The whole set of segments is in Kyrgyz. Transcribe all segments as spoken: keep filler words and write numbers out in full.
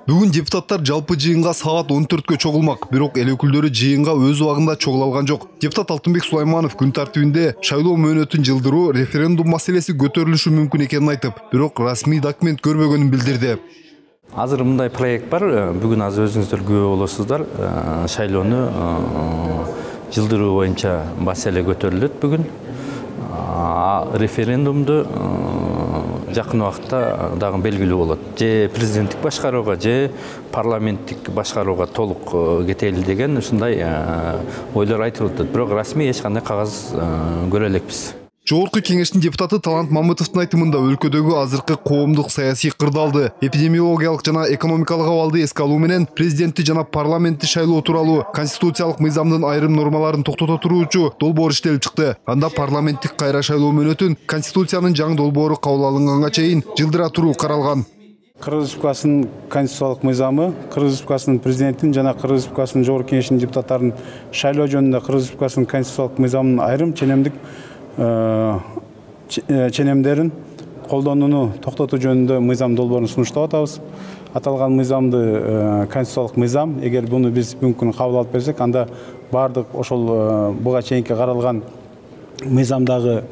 Бүгүн депутаттар жалпы жыйынга саат он төрткө чогулмак, бирок эл өкүлдөрү жыйынга өз убагында чогула алган жок. Депутат Алтынбек Сулайманов күн тартибинде шайлоо мөөнөтүн жылдыруу, референдум маселеси көтөрүлүшү мүмкүн экенин айтып, бирок расмий документ көрбөгөнүн билдирди. Азыр мындай проект бар, бүгүн азыр өзүңүздөр күбө болосуздар, шайлоону жылдыруу боюнча маселе көтөрүлөт бүгүн. Референдумду жакын убакытта дагы белгилүү болот. Же президенттик башкарууга, же парламенттик башкарууга толук кетели деген ушундай ойлор айтылып атат. Бирок расмий эч кандай кагаз көрө элекпиз. Жогорку кеңештин депутаты Талант Мамытовдун айтымында өлкөдөгү азыркы коомдук саясий кырдаалды, эпидемиологиялык жана экономикалык абалды эске алуу менен президентти жана парламентти шайлоо тууралуу конституциялык мыйзамдын айрым нормаларын токтото туруучу долбоор иштелип чыкты. Анда парламенттик кайра шайлоо мөөнөтүн конституциянын жаңы долбоору кабыл алынганга чейин жылдыра туруу каралган. Кыргыз Республикасынын конституциялык мыйзамы, Кыргыз Республикасынын президентин жана Кыргыз Республикасынын жогорку кеңешинин депутаттарын шайлоо жөнүндө Кыргыз Республикасынын конституциялык мыйзамынын айрым ченемдик ченемдерин колдонууну токтотуу жөнүндө мыйзам долбоорун сунуштап атабыз. Аталган мыйзамды конституциялык мыйзам, эгер буну биз бүгүнкү күнү кабыл алып берсек, анда бардык ошол буга чейинки каралган мыйзамдагы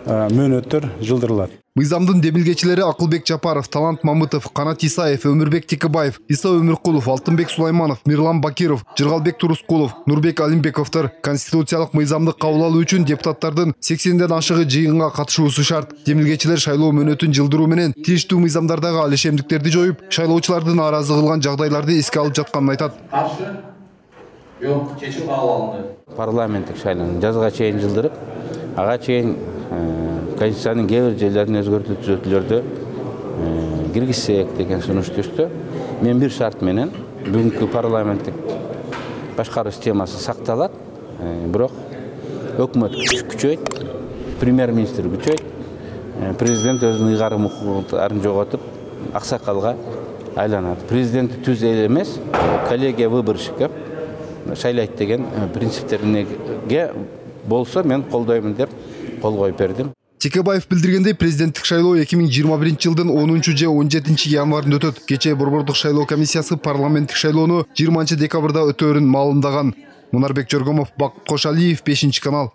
мөөнөттөр жылдырылат. Мыйзамдын демилгечилери Акылбек Жапаров, Талант Мамытов, Канат Исаев, Өмүрбек Текебаев, Иса Өмүркулов, Алтынбек Сулайманов, Мирлан Бакиров, Жыргалбек Турускулов, Нурбек Алимбековдор. Конституциялык мыйзамды кабыл алуу үчүн депутаттардын сексенден ашыгы жыйынга катышуусу шарт. Демилгечилер шайлоо мөөнөтүн жылдыруу менен тийиштүү мыйзамдардагы алишемдиктерди жоюп, шайлоочулардын нааразы кылган жагдайларды эске алып жатканын айтат. Каршы? Жок, чечим кабыл алынды. Парламенттик шайлоону жазга чейин жылдырып, ага чейин Конституциянын кээ бир жерлерин өзгөртүү түзөтүүлөрдү киргизсек деген сунуш түштү. Мен бир шарт менен бүгүнкү парламенттик башкаруу системасы сакталат, бирок өкмөт күчөйт, премьер-министр күчөйт, президент өзүнүн ыйгарым укуктарын жоготуп, аксакалга айланат. Президентти түз эл эмес, коллегия выборщиков шайлайт деген принциптерге болсо мен колдоймун деп кол коюп бердим. Текебаев билдиргендей, президенттик шайлоо эки миң жыйырма биринчи жылдын онунчу же он жетинчи январында өтөт. Кечээ Борбордук шайлоо комиссиясы парламенттик шайлоону жыйырманчы декабрда өтөөрүн маалымдаган. Мунарбек Жоргомов, Бакыт Кошалиев, бешинчи канал.